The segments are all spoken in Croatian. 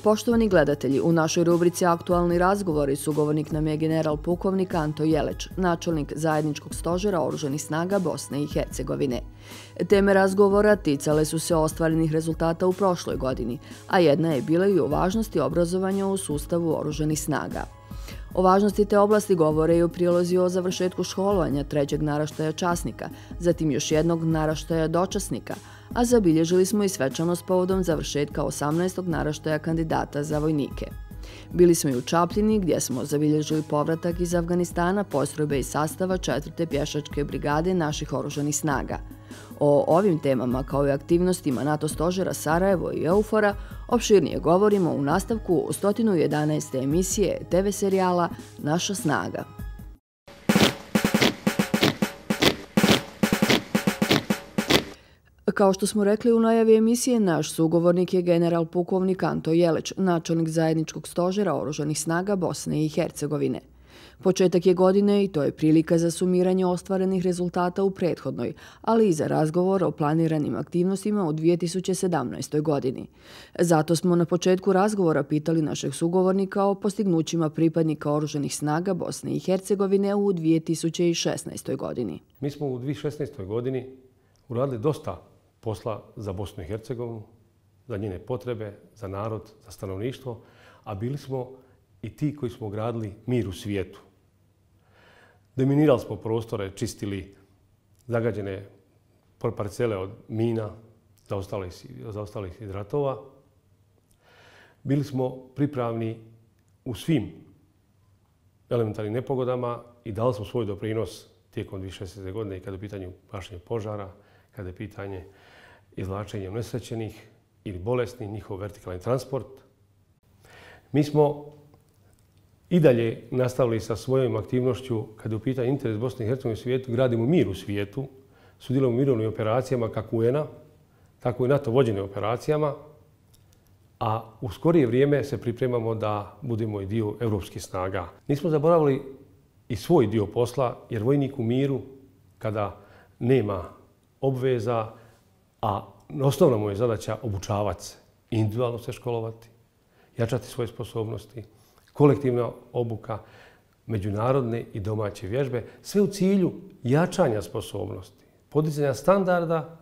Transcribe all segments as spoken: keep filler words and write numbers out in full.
Poštovani gledatelji, u našoj rubrici Aktualni razgovori sugovornik nam je general pukovnik Anto Jeleć, načelnik zajedničkog stožera Oružanih snaga Bosne i Hercegovine. Teme razgovora ticale su se ostvarenih rezultata u prošloj godini, a jedna je bila i o važnosti obrazovanja u sustavu Oružanih snaga. O važnosti te oblasti govore i o prilozi o završetku školovanja trećeg naraštaja časnika, zatim još jednog naraštaja dočasnika, a zabilježili smo i svečanost povodom završetka osamnaestog naraštaja kandidata za vojnike. Bili smo i u Čapljini gdje smo zabilježili povratak iz Afganistana postrojbe iz sastava četvrte pješačke brigade naših oružanih snaga. O ovim temama kao i aktivnostima NATO stožera Sarajevo i EUFOR-a opširnije govorimo u nastavku sto jedanaeste emisije te ve serijala Naša snaga. Kao što smo rekli u najavi emisije, naš sugovornik je general pukovnik Anto Jeleć, načelnik zajedničkog stožera Oružanih snaga Bosne i Hercegovine. Početak je godine i to je prilika za sumiranje ostvarenih rezultata u prethodnoj, ali i za razgovor o planiranim aktivnostima u dvije tisuće sedamnaestoj. godini. Zato smo na početku razgovora pitali našeg sugovornika o postignućima pripadnika Oružanih snaga Bosne i Hercegovine u dvije tisuće šesnaestoj. godini. Mi smo u dvije tisuće šesnaestoj. godini uradili dosta posla za Bosnu i Hercegovinu, za njene potrebe, za narod, za stanovništvo, a bili smo i ti koji smo gradili mir u svijetu. Deminirali smo prostore, čistili zagađene parcele od mina, zaostalih iz ratova. Bili smo pripravni u svim elementarnim nepogodama i dali smo svoj doprinos tijekom dvije tisuće šesnaeste. godine i kada je u pitanju gašenja požara, kada je pitanje izvlačenja unesrećenih ili bolesnih, njihov vertikalni transport. Mi smo i dalje nastavili sa svojom aktivnošću kada je u pitanju interes Bosne i Hercegovine u svijetu, gradimo mir u svijetu, sudjelujemo u mirovnim operacijama kako U N-a, tako i NATO vođene operacijama, a u skorije vrijeme se pripremamo da budemo i dio evropskih snaga. Nismo zaboravili i svoj dio posla, jer vojnik u miru, kada nema obveza, a osnovna mu je zadaća obučavati se, individualno se školovati, jačati svoje sposobnosti, kolektivna obuka, međunarodne i domaće vježbe, sve u cilju jačanja sposobnosti, podizanja standarda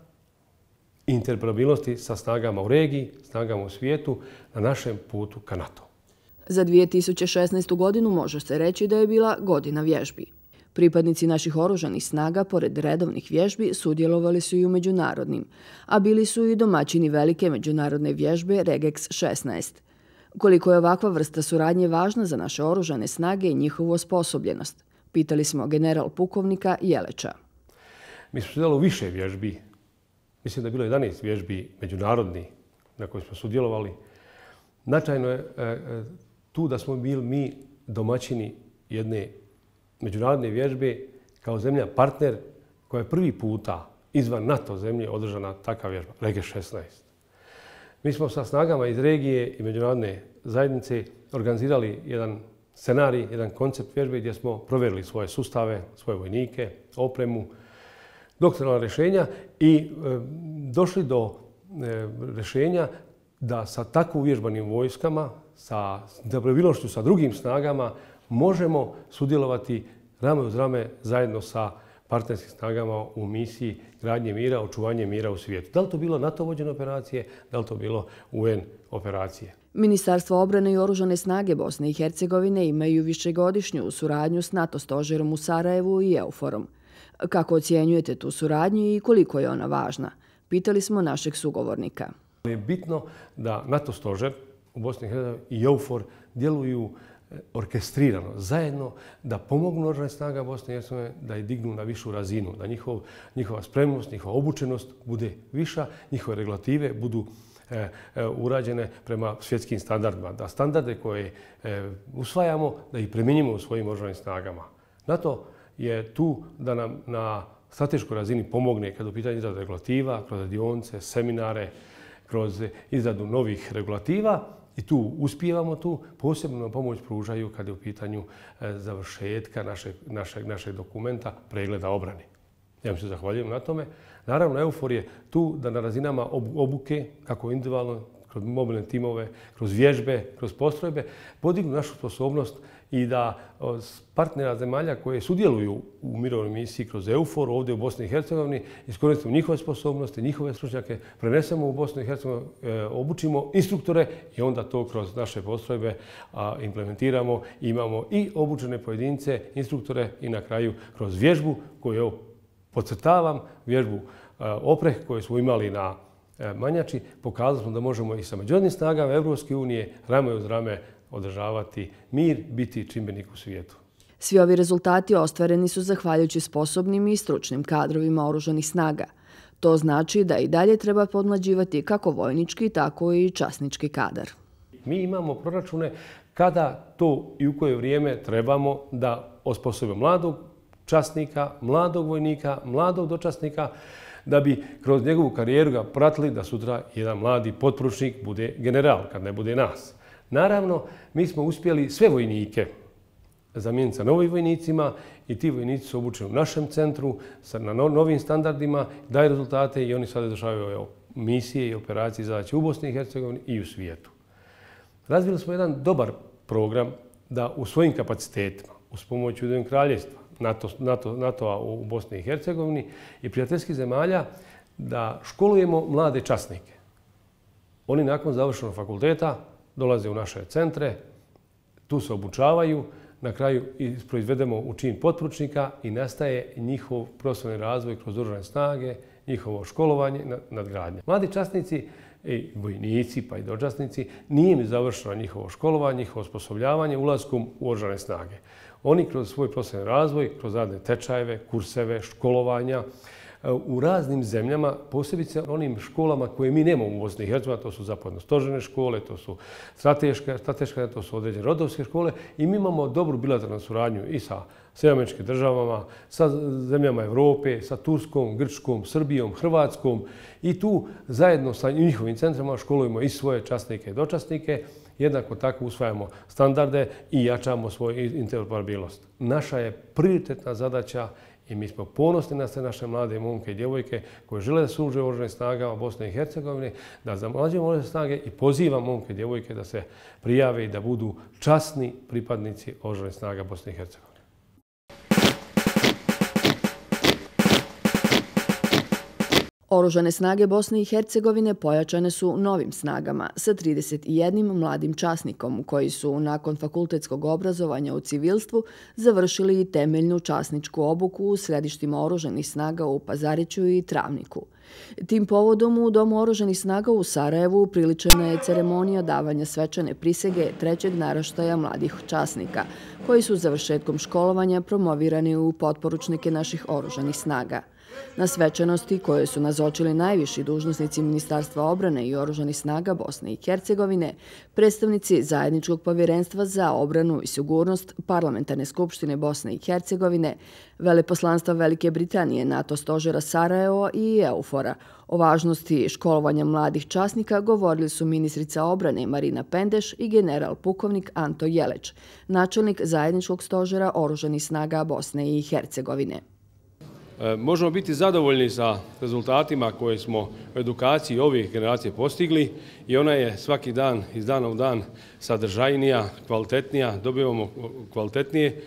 i interoperabilnosti sa snagama u regiji, snagama u svijetu na našem putu ka NATO. Za dvije tisuće šesnaestu. godinu može se reći da je bila godina vježbi. Pripadnici naših oružanih snaga, pored redovnih vježbi, sudjelovali su i u međunarodnim, a bili su i domaćini velike međunarodne vježbe Regex šesnaest. Koliko je ovakva vrsta suradnje važna za naše oružane snage i njihovu osposobljenost? Pitali smo general pukovnika Jeleča. Mi smo sudjelovali u više vježbi. Mislim da je bilo jedanaest vježbi međunarodnih na koje smo sudjelovali. Značajno je tu da smo bili mi domaćini jedne međunarodne vježbe kao zemlja partner koja je prvi puta izvan NATO zemlje održana takva vježba, Regex šesnaest. Mi smo sa snagama iz regije i međunarodne zajednice organizirali jedan scenarij, jedan koncept vježbe gdje smo provjerili svoje sustave, svoje vojnike, opremu, doktoralna rješenja i e, došli do e, rješenja da sa tako uvježbanim vojskama, sa interoperabilnošću sa drugim snagama, možemo sudjelovati rame uz rame zajedno sa partnerskim snagama u misiji gradnje mira, očuvanje mira u svijetu. Da li to bilo NATO vođene operacije, da li to bilo U N operacije? Ministarstvo obrane i oružane snage Bosne i Hercegovine imaju višegodišnju suradnju s NATO stožerom u Sarajevu i EUFOR-om. Kako ocjenjujete tu suradnju i koliko je ona važna? Pitali smo našeg sugovornika. Je bitno da NATO stožer u Bosni i Hercegovini i EUFOR djeluju orkestrirano, zajedno, da pomognu oružanim snagama Bosne i Hercegovine da je dignu na višu razinu, da njihov, njihova spremnost, njihova obučenost bude viša, njihove regulative budu e, e, urađene prema svjetskim standardima, da standarde koje e, usvajamo, da ih primjenjujemo u svojim oružanim snagama. NATO je tu da nam na strateškoj razini pomogne kada u pitanju izrade regulativa, kroz radionice, seminare, kroz izradu novih regulativa. I tu uspijevamo tu, posebno nam pomoć pružaju kada je u pitanju završetka našeg, našeg, našeg dokumenta pregleda obrane. Ja vam se zahvaljujem na tome. Naravno, EUFOR je tu da na razinama obuke, kako individualno kroz mobilne timove, kroz vježbe, kroz postrojbe, podignu našu sposobnost i da partnera zemalja koje sudjeluju u mirovnoj misiji kroz EUFOR ovdje u Bosni i Hercegovini iskoristimo njihove sposobnosti, njihove stručnjake, prenesemo u Bosnu i Hercegovinu, obučimo instruktore i onda to kroz naše postrojbe implementiramo. Imamo i obučene pojedince, instruktore i na kraju kroz vježbu koju, evo, podcrtavam, vježbu Opreh koju smo imali na Manjači, pokazali smo da možemo i sa međunarodnim snagama Evropske unije rame uz rame održavati mir, biti čimbenik u svijetu. Svi ovi rezultati ostvareni su zahvaljujući sposobnim i stručnim kadrovima oružanih snaga. To znači da i dalje treba podmlađivati kako vojnički, tako i časnički kadar. Mi imamo proračune kada to i u koje vrijeme trebamo da osposobimo mladog časnika, mladog vojnika, mladog dočasnika, da bi kroz njegovu karijeru ga pratili da sutra jedan mladi potporučnik bude general, kad ne bude nas. Naravno, mi smo uspjeli sve vojnike zamijeniti sa novim vojnicima i ti vojnici su obučeni u našem centru na novim standardima, daju rezultate i oni sada izvršavaju misije i operacije i zadaće u Bosni i Hercegovini i u svijetu. Razvili smo jedan dobar program da u svojim kapacitetima, uz pomoć Ujedinjenog kraljevstva, NATO-a u Bosni i Hercegovini i prijateljskih zemalja, da školujemo mlade časnike. Oni nakon završenog fakulteta dolaze u naše centre, tu se obučavaju, na kraju proizvedemo u čin potporučnika i nastaje njihov profesionalni razvoj kroz oružane snage, njihovo školovanje, nadgradnja. Mladi časnici i vojnici pa i dočasnici nije im završeno njihovo školovanje, njihovo osposobljavanje ulaskom u oružane snage. Oni kroz svoj profesionalni razvoj, kroz radne tečajeve, kurseve, školovanja, u raznim zemljama, posebice onim školama koje mi nemamo u Bosni i Hercegovini, to su zapovjedno-stožerne škole, to su strateške, strateške, to su određene rodovske škole i mi imamo dobru bilateralnu suradnju i sa Sjedinjenim Američkim Državama, sa zemljama Evrope, sa Turskom, Grčkom, Srbijom, Hrvatskom i tu zajedno sa njihovim centrima školujemo i svoje časnike i dočasnike. Jednako tako usvajamo standarde i jačamo svoju interoperabilnost. Naša je prioritetna zadaća i mi smo ponosni na sve naše mlade momke i djevojke koje žele da služe u oružanim snagama Bosne i Hercegovine, da zamlađujemo oružane snage i pozivam momke i djevojke da se prijave i da budu časni pripadnici oružanih snaga Bosne i Hercegovine. Oružane snage Bosne i Hercegovine pojačane su novim snagama sa trideset jednim mladim časnikom koji su nakon fakultetskog obrazovanja u civilstvu završili i temeljnu časničku obuku u središtima oružanih snaga u Pazariću i Travniku. Tim povodom u Domu oružanih snaga u Sarajevu priličena je ceremonija davanja svečane prisege trećeg naraštaja mladih časnika, koji su završetkom školovanja promovirani u potporučnike naših oružanih snaga. Na svečanosti koje su nazočili najviši dužnosnici Ministarstva odbrane i oružanih snaga Bosne i Hercegovine, predstavnici Zajedničkog povjerenstva za obranu i sigurnost Parlamentarne skupštine Bosne i Hercegovine, veleposlanstva Velike Britanije, NATO stožera Sarajevo i EUFOR-a. O važnosti školovanja mladih časnika govorili su ministrica obrane Marina Pendeš i general pukovnik Anto Jeleć, načelnik Zajedničkog stožera oružanih snaga Bosne i Hercegovine. Možemo biti zadovoljni sa rezultatima koje smo u edukaciji ovih generacije postigli i ona je svaki dan, iz dana u dan sadržajnija, kvalitetnija, dobivamo kvalitetnije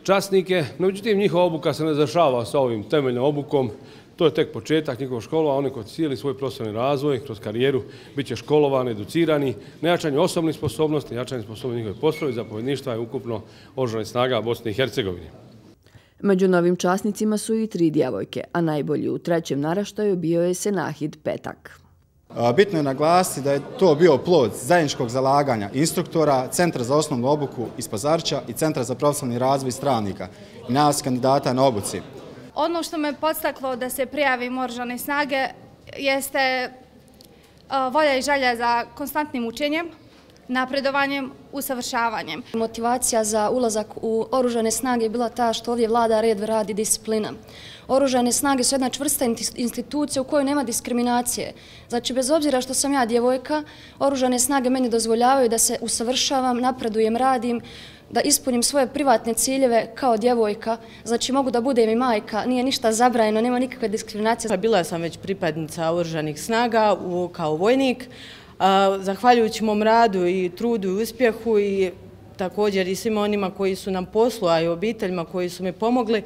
časnike. Međutim, njihova obuka se ne završava sa ovim temeljnom obukom. To je tek početak njihovog školova, oni koji cijeli svoj profesionalni razvoj, kroz karijeru, bit će školovani, educirani, na jačanje osobnih sposobnosti, jačanje sposobnosti njihove postrojbe, zapovjedništva i ukupno oružanih snaga Bosne i Hercegovine. Među novim časnicima su i tri djevojke, a najbolji u trećem naraštaju bio je Senahid Petak. Bitno je naglasiti da je to bio plod zajedničkog zalaganja instruktora, Centra za osnovnu obuku iz Pazarića i Centra za profesionalni razvoj iz Travnika i nas kandidata na obuci. Ono što me podstaklo da se prijavim u oružane snage jeste volja i želja za konstantnim učenjem, napredovanjem, usavršavanjem. Motivacija za ulazak u oružane snage je bila ta što ovdje vlada red, rad i disciplina. Oružane snage su jedna čvrsta institucija u kojoj nema diskriminacije. Znači, bez obzira što sam ja djevojka, oružane snage meni dozvoljavaju da se usavršavam, napredujem, radim, da ispunim svoje privatne ciljeve kao djevojka. Znači, mogu da budem i majka, nije ništa zabranjeno, nema nikakve diskriminacije. Bila sam već pripadnica oružanih snaga kao vojnik, Zahvaljujući mom radu i trudu i uspjehu i također i svima onima koji su nam poslu, a i obiteljima koji su mi pomogli,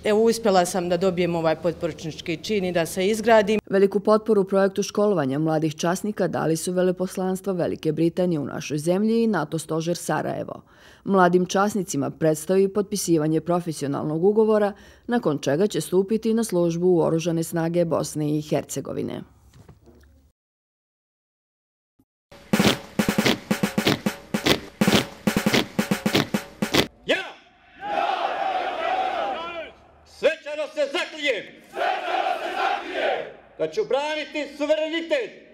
evo uspjela sam da dobijem ovaj potporučnički čin i da se izgradim. Veliku potporu projektu školovanja mladih časnika dali su veleposlanstva Velike Britanije u našoj zemlji i NATO stožer Sarajevo. Mladim časnicima predstoji potpisivanje profesionalnog ugovora, nakon čega će stupiti na službu u Oružane snage Bosne i Hercegovine. Svečano se zaklijem da ću braniti suverenitet.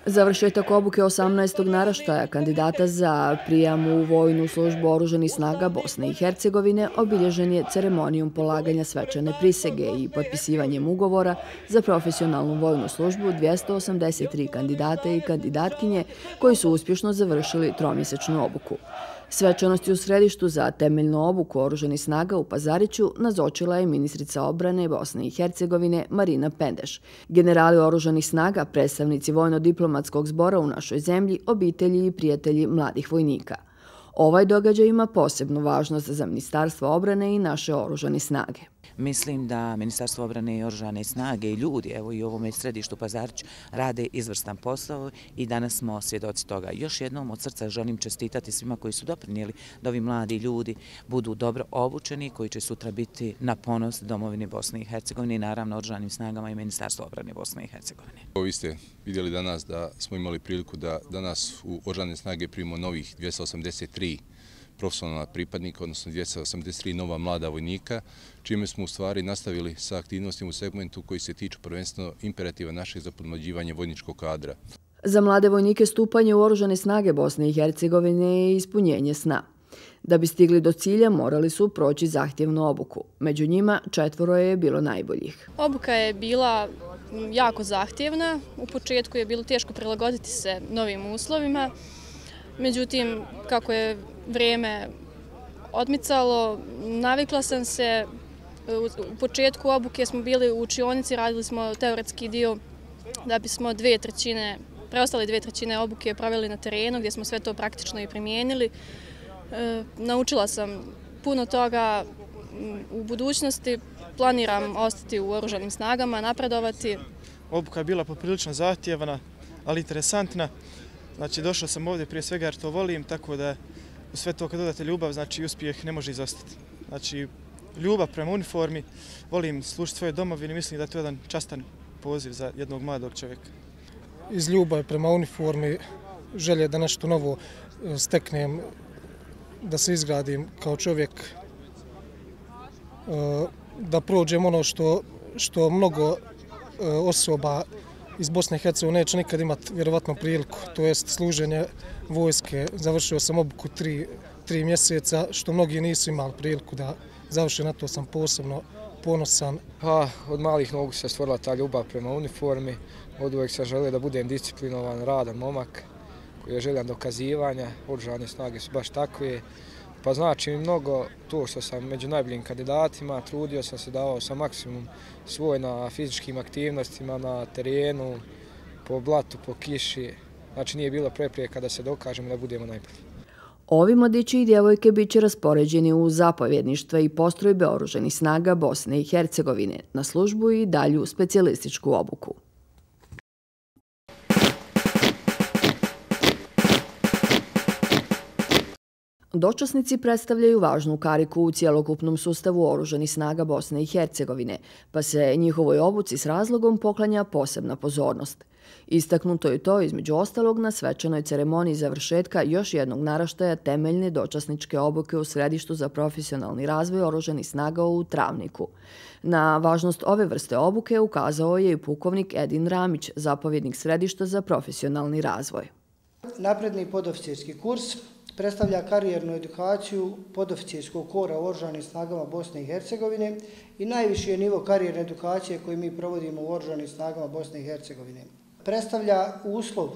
Završetak obuke osamnaestog naraštaja kandidata za prijam u vojnu službu Oružanih snaga Bosne i Hercegovine obilježen je ceremonijom polaganja svečane prisege i potpisivanjem ugovora za profesionalnu vojnu službu dvjesto osamdeset tri kandidata i kandidatkinje koji su uspješno završili tromjesečnu obuku. Svečanosti u središtu za temeljnu obuku Oružanih snaga u Pazariću nazočila je ministrica obrane Bosne i Hercegovine Marina Pendeš, generali Oružanih snaga, predstavnici vojno-diplomatskog zbora u našoj zemlji, obitelji i prijatelji mladih vojnika. Ovaj događaj ima posebnu važnost za Ministarstvo obrane i naše Oružane snage. Mislim da Ministarstvo obrane i Oružane snage i ljudi, evo i u ovom središtu Pazariću, rade izvrstan posao i danas smo svjedoci toga. Još jednom od srca želim čestitati svima koji su doprinijeli da ovi mladi ljudi budu dobro obučeni, koji će sutra biti na ponos domovini Bosne i Hercegovine i naravno Oružanim snagama i Ministarstvo obrane Bosne i Hercegovine. Vi ste vidjeli danas da smo imali priliku da danas u Oružane snage primimo novih dvjesto osamdeset tri profesionalna pripadnika, odnosno dvjesto osamdeset tri nova mlada vojnika, čime smo u stvari nastavili sa aktivnostima u segmentu koji se tiču prvenstveno imperativa našeg za podmlađivanje vojničkog kadra. Za mlade vojnike stupanje u Oružane snage Bosne i Hercegovine je ispunjenje sna. Da bi stigli do cilja morali su proći zahtjevnu obuku. Među njima četvoro je bilo najboljih. Obuka je bila jako zahtjevna. U početku je bilo teško prilagoditi se novim uslovima. Međutim, kako je vrijeme odmicalo, navikla sam se. U početku obuke smo bili u učionici, radili smo teoretski dio da bismo dvije trećine, preostale dvije trećine obuke proveli na terenu gdje smo sve to praktično i primijenili. E, naučila sam puno toga. U budućnosti planiram ostati u Oružanim snagama, napredovati. Obuka je bila poprilično zahtjevna, ali interesantna. Znači, došao sam ovdje prije svega jer to volim, tako da u sve to kad dodate ljubav, znači uspjeh ne može izostati. Znači, ljubav prema uniformi, volim služiti svoje domovine, mislim da je to jedan častan poziv za jednog mladog čovjeka. Iz ljubavi prema uniformi, želje da nešto novo steknem, da se izgradim kao čovjek, da prođem ono što, što mnogo osoba iz Bosne i Hercegovine neće nikad imati vjerovatno priliku, to jest služenje vojske. Završio sam obuku tri, tri mjeseca, što mnogi nisu imali priliku da završe, na to sam posebno ponosan. Pa, od malih nogu se stvorila ta ljubav prema uniformi, od uvijek sam želio da budem disciplinovan, radan momak, koji je željan dokazivanja, Oružane snage su baš takve. Pa znači mi mnogo to što sam među najboljim kandidatima, trudio sam se, davao sam maksimum svoj na fizičkim aktivnostima, na terenu, po blatu, po kiši. Znači nije bilo prepreka da se dokažemo da budemo najbolji. Ovi mladići i djevojke bit će raspoređeni u zapovjedništva i postrojbe Oružanih snaga Bosne i Hercegovine na službu i dalju specijalističku obuku. Dočasnici predstavljaju važnu kariku u cjelokupnom sustavu Oružanih snaga Bosne i Hercegovine, pa se njihovoj obuci s razlogom poklanja posebna pozornost. Istaknuto je to između ostalog na svečanoj ceremoniji završetka još jednog naraštaja temeljne dočasničke obuke u središtu za profesionalni razvoj Oružanih snaga u Travniku. Na važnost ove vrste obuke ukazao je i pukovnik Edin Ramić, zapovjednik središta za profesionalni razvoj. Napredni podoficirski kurs predstavlja karijernu edukaciju podoficirskog kora u Oružanim snagama Bosne i Hercegovine i najviši je nivo karijerne edukacije koju mi provodimo u Oružanim snagama Bosne i Hercegovine. Predstavlja uslov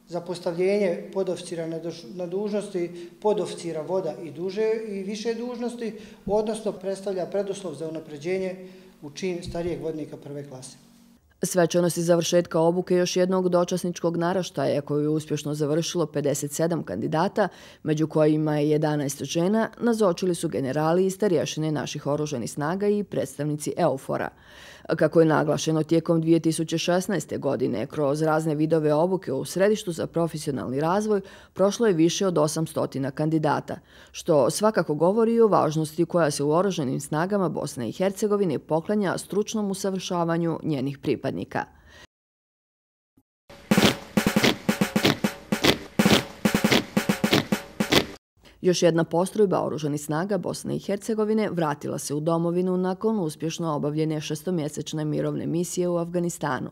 za postavljenje podoficira na dužnosti podoficira voda i duže i više dužnosti, odnosno predstavlja preduslov za unapređenje u čin starijeg vodnika prve klase. Svečanosti završetka obuke još jednog dočasničkog naraštaja koju je uspješno završilo pedeset sedam kandidata, među kojima je jedanaest žena, nazočili su generali i starješine naših oružanih snaga i predstavnici EUFOR-a. Kako je naglašeno tijekom dvije tisuće šesnaeste. godine, kroz razne vidove obuke u Središtu za profesionalni razvoj prošlo je više od osamsto kandidata, što svakako govori o važnosti koja se u oružanim snagama Bosne i Hercegovine poklanja stručnom usavršavanju njenih pripadnika. Još jedna postrojba oružanih snaga Bosne i Hercegovine vratila se u domovinu nakon uspješno obavljene šestomjesečne mirovne misije u Afganistanu.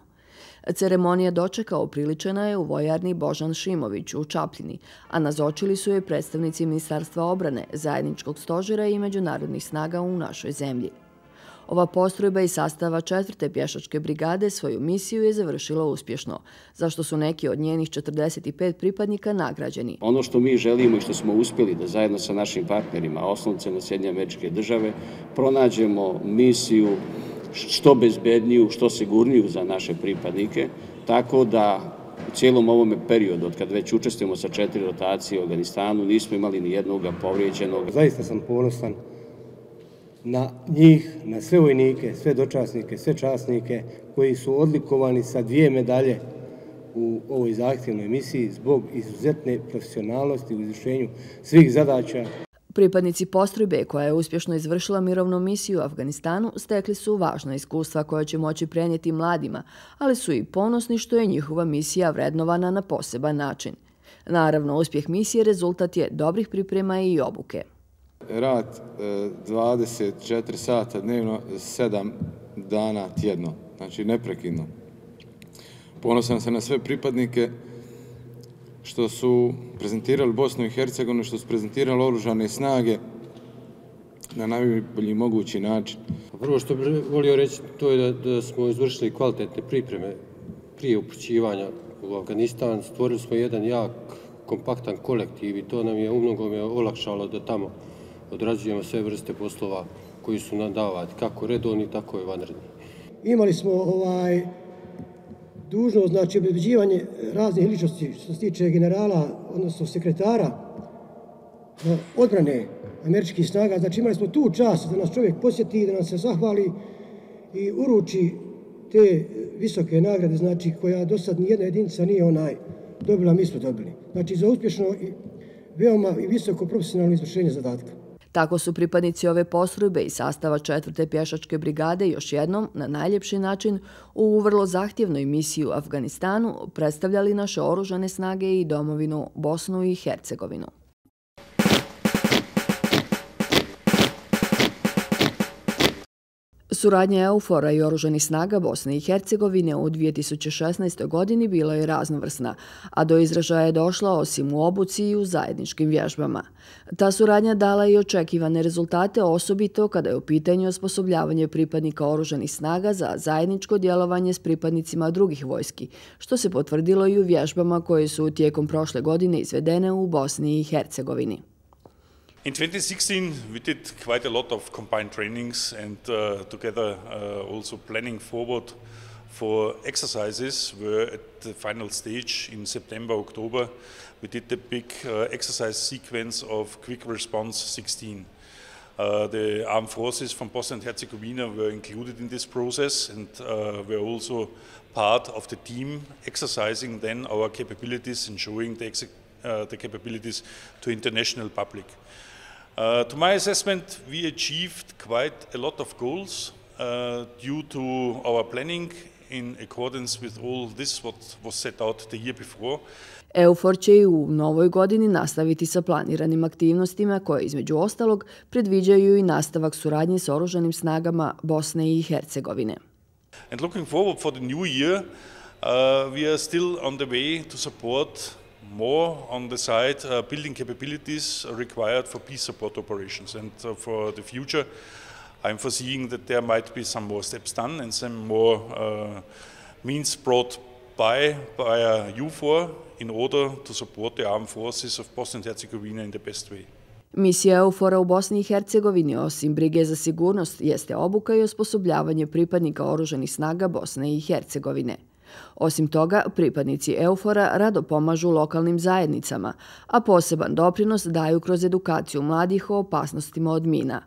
Ceremonija dočeka upriličena je u vojarni Božan Šimović u Čapljini, a nazočili su je predstavnici Ministarstva obrane, zajedničkog stožera i međunarodnih snaga u našoj zemlji. Ova postrojba iz sastava četvrte pješačke brigade svoju misiju je završila uspješno, zašto su neki od njenih četrdeset pet pripadnika nagrađeni. Ono što mi želimo i što smo uspjeli da zajedno sa našim partnerima, osnovcem Sjedinjene Američke Države, pronađemo misiju što bezbedniju, što sigurniju za naše pripadnike, tako da u cijelom ovome periodu, od kad već učestvujemo sa četiri rotacije u Afganistanu, nismo imali ni jednog povrijeđenog. Zaista sam ponosan na njih, na sve vojnike, sve dočasnike, sve časnike koji su odlikovani sa dvije medalje u ovoj zahtjevnoj misiji zbog izuzetne profesionalnosti u izvršenju svih zadaća. Pripadnici postrojbe koja je uspješno izvršila mirovnu misiju u Afganistanu stekli su važna iskustva koja će moći prenijeti mladima, ali su i ponosni što je njihova misija vrednovana na poseban način. Naravno, uspjeh misije rezultat je dobrih priprema i obuke. Rad dvadeset četiri sata dnevno, sedam dana tjedno, znači neprekidno. Ponosan sam na sve pripadnike što su prezentirali Bosnu i Hercegovinu, što su prezentirali oružane snage na najbolji mogući način. Prvo što bih volio reći to je da, da smo izvršili kvalitetne pripreme prije upućivanja u Afganistan. Stvorili smo jedan jak, kompaktan kolektiv i to nam je umnogome olakšalo da tamo odrađujemo sve vrste poslova koji su nam davati, kako redovni, tako i vanredni. Imali smo ovaj dužnost, znači obezbeđivanje raznih ličnosti što se tiče generala, odnosno sekretara odbrane američkih snaga. Znači imali smo tu čast da nas čovjek posjeti, da nam se zahvali i uruči te visoke nagrade, znači koja do sad nijedna jedinica nije onaj dobila, mi smo dobili. Znači za uspješno i veoma i visoko profesionalno izvršenje zadatka. Tako su pripadnici ove postrojbe iz sastava četvrte pješačke brigade još jednom, na najljepši način, u vrlo zahtjevnoj misiji u Afganistanu predstavljali naše oružane snage i domovinu Bosnu i Hercegovinu. Suradnja EUFOR-a i oružanih snaga Bosne i Hercegovine u dvije tisuće šesnaestoj. godini bila je raznovrsna, a do izražaja je došla osim u obuci i u zajedničkim vježbama. Ta suradnja dala i očekivane rezultate, osobito kada je u pitanju osposobljavanje pripadnika oružanih snaga za zajedničko djelovanje s pripadnicima drugih vojski, što se potvrdilo i u vježbama koje su tijekom prošle godine izvedene u Bosni i Hercegovini. In twenty sixteen, we did quite a lot of combined trainings and uh, together uh, also planning forward for exercises. Were at the final stage in September, October. We did the big uh, exercise sequence of Quick Response sixteen. Uh, the armed forces from Bosnia and Herzegovina were included in this process and uh, were also part of the team exercising then our capabilities and showing the, uh, the capabilities to international public. Uh, to my assessment, we achieved quite a lot of goals uh, due to our planning in accordance with all this what was set out the year before. EUFOR će i u novoj godini nastaviti sa planiranim aktivnostima koje između ostalog predviđaju i nastavak suradnje s oružanim snagama Bosne i Hercegovine. And looking forward for the new year, uh, we are still on the way to support more on the side uh, building capabilities required for peace support operations. And uh, for the future, I'm foreseeing that there might be some more steps done and some more uh, means brought by by uh, EUFOR in order to support the armed forces of Bosnia and Herzegovina in the best way. Misija EUFOR-a u Bosni i Hercegovini, osim brige za sigurnost, jeste obuka i osposobljavanje pripadnika oružanih snaga Bosne i Hercegovine. Osim toga, pripadnici EUFOR-a rado pomažu lokalnim zajednicama, a poseban doprinos daju kroz edukaciju mladih o opasnostima od mina.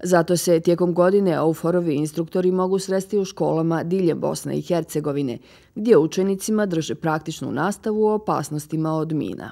Zato se tijekom godine EUFOR-ovi instruktori mogu sresti u školama diljem Bosne i Hercegovine, gdje učenicima drže praktičnu nastavu o opasnostima od mina.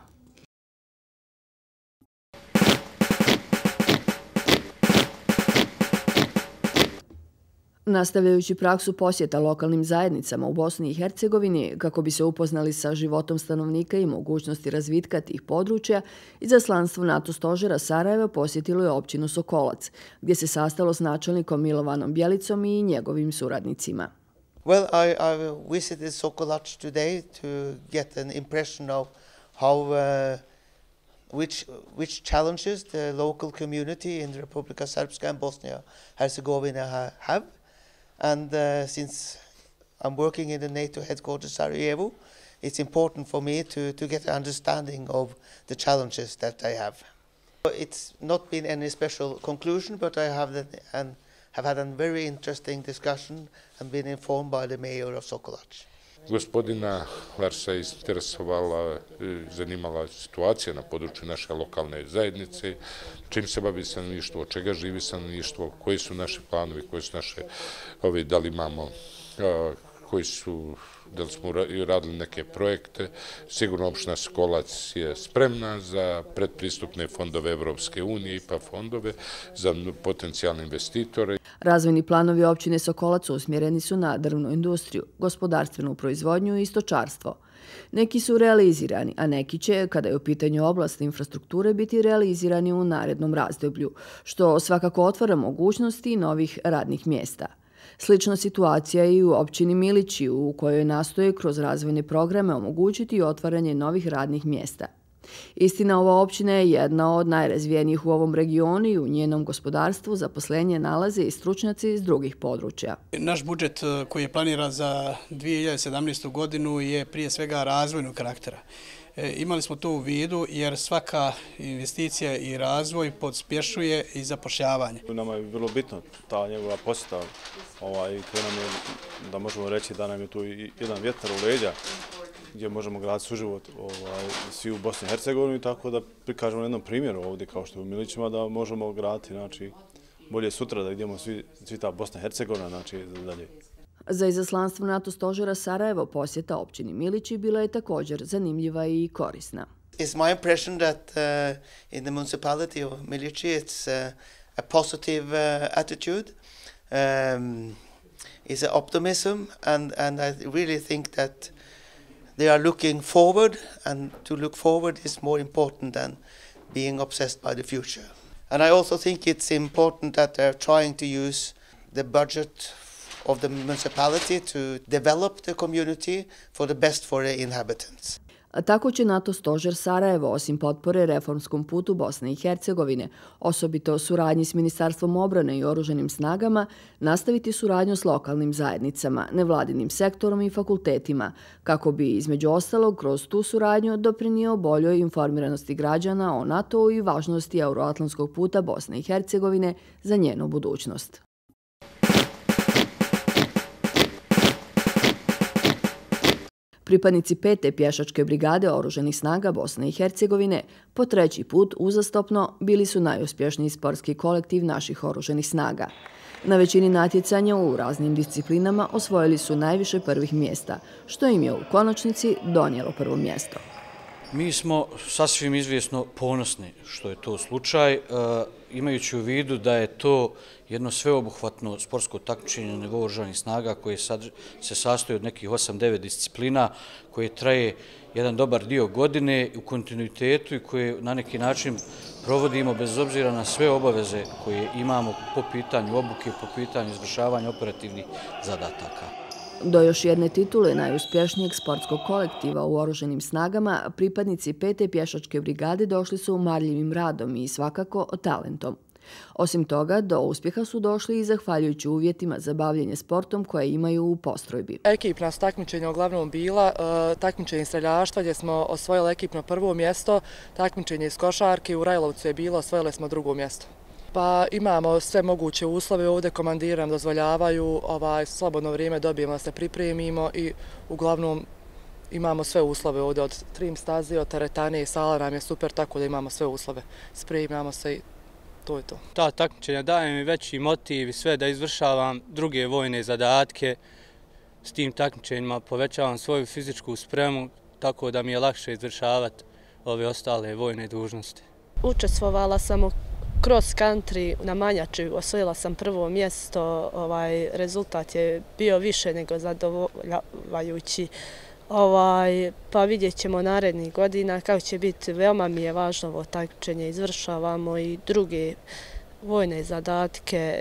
Nastavljajući praksu posjeta lokalnim zajednicama u Bosni i Hercegovini kako bi se upoznali sa životom stanovnika i mogućnosti razvitka tih područja, izaslanstvo NATO stožera Sarajeva posjetilo je općinu Sokolac, gdje se sastalo s načelnikom Milovanom Bjelicom i njegovim suradnicima. Well, I, I visited Sokolac today to get an impression of how uh, which which challenges the local community in Republika Srpska and Bosnia Herzegovina ha, have. And uh, since I'm working in the NATO headquarters Sarajevo, it's important for me to, to get an understanding of the challenges that they have. It's not been any special conclusion, but I have, the, and have had a very interesting discussion and been informed by the mayor of Sokolac. Gospodina Larsa interesovala, zanimala situacija na području naše lokalne zajednice, čim se bavi stanovništvo, od čega živi stanovništvo, koji su naši planovi, koji su naše, ovi, da li imamo, koji su, da li smo radili neke projekte. Sigurno opština Sokolac je spremna za predpristupne fondove Evropske unije i pa fondove za potencijalne investitore. Razvojni planovi općine Sokolac usmjereni su na drvnu industriju, gospodarstvenu proizvodnju i stočarstvo. Neki su realizirani, a neki će, kada je u pitanju oblast infrastrukture, biti realizirani u narednom razdoblju, što svakako otvara mogućnosti novih radnih mjesta. Slična situacija je i u općini Milići, u kojoj nastoje kroz razvojne programe omogućiti otvaranje novih radnih mjesta. Istina, ova općina je jedna od najrazvijenijih u ovom regionu i u njenom gospodarstvu zaposlenje nalaze i stručnjaci iz drugih područja. Naš budžet koji je planiran za dvije hiljade sedamnaestu. godinu je prije svega razvojnog karaktera. Imali smo to u vidu jer svaka investicija i razvoj pospješuje i zapošljavanje. Nama je vrlo bitno ta njegova posjeta, ovaj, nam je, da možemo reći da nam je tu jedan vjetar u leđa gdje možemo graditi suživot ovaj, svi u Bosni i Hercegovini, tako da prikažemo na jednom primjeru ovdje kao što je u Milićima da možemo graditi, znači, bolje sutra da idemo svi, svi ta Bosna i Hercegovina, znači dalje. Za izaslanstvo NATO stožera Sarajevo posjeta općini Milići bila je također zanimljiva i korisna. It's my impression that uh, in the municipality of Milići it's uh, a positive uh, attitude. Um, it's an optimism and, and I really think that they are looking forward, and to look forward is more important than being obsessed by the future. And I also think it's important that they're trying to use the budget of the municipality to develop the community for the best for the inhabitants. Tako će NATO stožer Sarajevo, osim potpore reformskom putu Bosne i Hercegovine, osobito suradnji s Ministarstvom obrane i oružanim snagama, nastaviti suradnju s lokalnim zajednicama, nevladinim sektorom i fakultetima, kako bi, između ostalog, kroz tu suradnju doprinio boljoj informiranosti građana o NATO-u i važnosti euroatlantskog puta Bosne i Hercegovine za njenu budućnost. Pripadnici pete pješačke brigade oružanih snaga Bosne i Hercegovine po treći put uzastopno bili su najuspješniji sportski kolektiv naših oružanih snaga. Na većini natjecanja u raznim disciplinama osvojili su najviše prvih mjesta, što im je u konačnici donijelo prvo mjesto. Mi smo sasvim izvjesno ponosni što je to slučaj, imajući u vidu da je to jedno sveobuhvatno sportsko takmičenje na nivou oružanih snaga koje se sastoji od nekih osam devet disciplina, koje traje jedan dobar dio godine u kontinuitetu i koje na neki način provodimo bez obzira na sve obaveze koje imamo po pitanju obuke, po pitanju izvršavanja operativnih zadataka. Do još jedne titule najuspješnijeg sportskog kolektiva u oružanim snagama, pripadnici pete pješačke brigade došli su marljivim radom i svakako talentom. Osim toga, do uspjeha su došli i zahvaljujući uvjetima za bavljenje sportom koje imaju u postrojbi. Ekipna su takmičenja uglavnom bila, takmičenje iz streljaštva gdje smo osvojili ekipno prvo mjesto, takmičenje iz košarke u Rajlovcu je bilo, osvojili smo drugo mjesto. Pa imamo sve moguće uslove ovdje, komandiri nam dozvoljavaju, ovaj, slobodno vrijeme dobijemo da se pripremimo i uglavnom imamo sve uslove ovdje od trim staze, od teretane i sala nam je super, tako da imamo sve uslove. Spremamo se i to je to. Ta takmičenja daje mi veći motiv i sve da izvršavam druge vojne zadatke. S tim takmičenjima povećavam svoju fizičku spremu, tako da mi je lakše izvršavati ove ostale vojne dužnosti. Učestvovala sam u cross country na Manjači, osvojila sam prvo mjesto, ovaj, rezultat je bio više nego zadovoljavajući. Ovaj, pa vidjet ćemo narednih godina kako će biti. Veoma mi je važno ovo takmičenje, izvršavamo i druge vojne zadatke.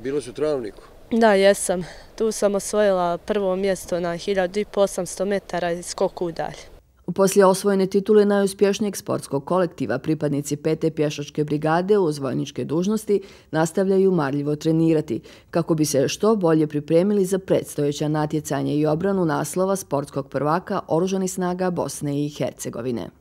Bilo si u Travniku? Da, jesam. Tu sam osvojila prvo mjesto na hiljadu osamsto metara i skoku udalje. Poslije osvojene titule najuspješnijeg sportskog kolektiva, pripadnici pete pješačke brigade uz vojničke dužnosti nastavljaju marljivo trenirati kako bi se što bolje pripremili za predstojeća natjecanja i obranu naslova sportskog prvaka Oružanih snaga Bosne i Hercegovine.